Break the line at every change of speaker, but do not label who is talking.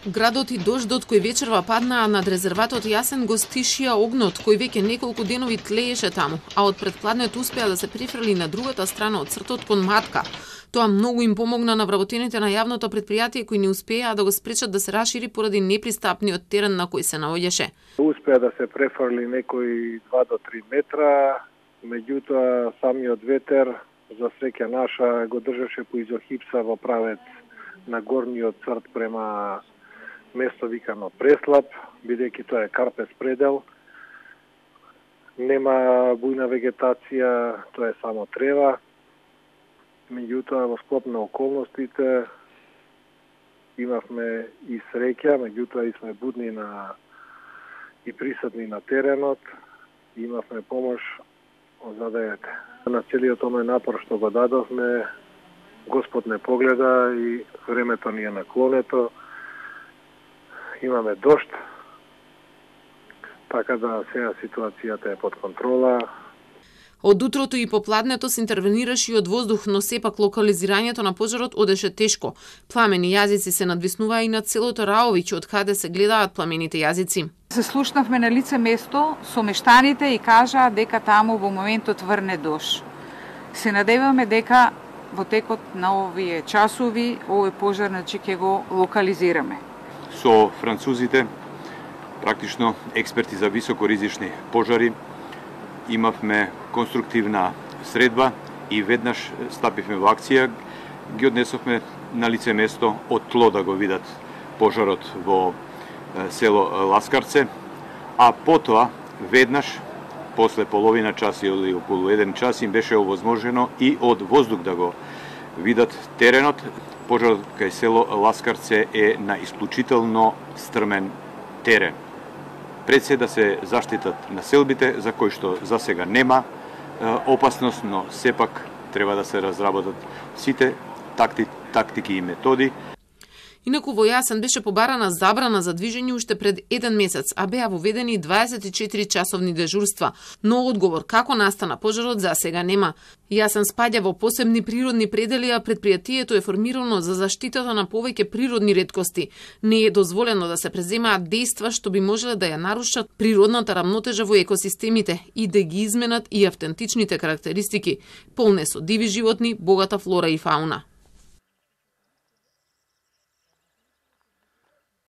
Градот и дождот кој вечерва паднаа над резерватот Јасен го стишија огнот кој веќе неколку денови тлееше таму, а од предпладнет успеа да се префрли на другата страна од цртот кон Матка. Тоа многу им помогна на вработените на јавното предпријатие кои не успеа да го спречат да се расшири поради непристапниот терен на кој се наоѓаше.
Успеа да се префрли некои 2 до 3 метра, меѓутоа самиот ветер за среќа наша го држеше по изохипса во правец на горниот црт према место викано Преслап, бидејќи тоа е Карпес предел. Нема бујна вегетација, тоа е само трева. Меѓутоа во склоп на околностите имавме и среќа, меѓутоа и сме будни и присутни на теренот. Имавме помош од задајата. На целиот овој напор што го дадовме, Господ не погледа и времето ни е наклонето. Имаме дожд, така да сега ситуацијата е под контрола.
Од утрото и попладнето се интервенираше и од воздух, но сепак локализирањето на пожарот одеше тешко. Пламени јазици се надвиснуваа и над селото Раович, од каде се гледаат пламените јазици.
Се слушнавме на лице место со мештаните и кажаа дека таму во моментот врне дожд. Се надеваме дека во текот на овие часови овој пожар ќе го локализираме.
Со французите, практично експерти за високоризични пожари, имавме конструктивна средба и веднаш стапивме во акција, ги однесовме на лице место од тло да го видат пожарот во село Ласкарце, а потоа веднаш после половина час или околу 1 час им беше овозможено и од воздух да го видат теренот. Пожарот кај село Ласкарце е на исклучително стрмен терен. Пред се да се заштитат населбите, за кои што за сега нема опасност, но сепак треба да се разработат сите тактики и методи.
Инаку во Јасен беше побарана забрана за движење уште пред 1 месец, а беа воведени 24 часовни дежурства, но одговор како настана пожарот за сега нема. Јасен спаѓа во посебни природни предели, а предпријатието е формирано за заштитата на повеќе природни реткости. Не е дозволено да се преземаат дејства што би можеле да ја нарушат природната рамнотежа во екосистемите и да ги изменат и автентичните карактеристики, полне со диви животни, богата флора и фауна.